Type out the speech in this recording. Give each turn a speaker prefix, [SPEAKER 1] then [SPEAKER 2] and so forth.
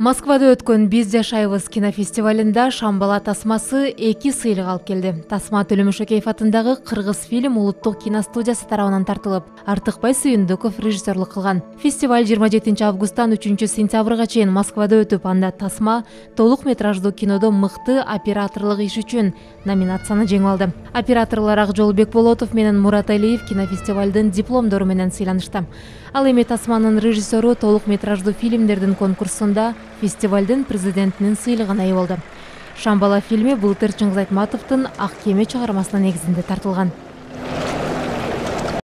[SPEAKER 1] Москвада өткөн «Биз жашайбыз» кинофестивалында «Шамбала тасмасы» 2 сыйлык алып келди. Тасма Төлөмөшөкеев атындагы Кыргыз фильм улуттук киностудиясы тарабынан тартылып, Артыкбай Сүйүндүков режиссерлук кылган. Фестиваль 27 августтан 3 сентябрга чейин Москвада өтүп, анда «Тасма» толук метраждуу кинодо мыкты операторлук иш үчүн номинацияны жеңип алды. Операторлор Акжол Бекболотов менен Мурат Алиев кинофестивалдын дипломдору менен сыйланышты. Ал эми «Тасманын» режиссеру толук метраждуу фильмдердин конкурсунда фестивалдын президентинин сыйлыгына ээ болду. «Шамбала» фильми былтыр Чыңгыз Айтматовдун «Ак кеме» чыгармасынын негизинде тартылган.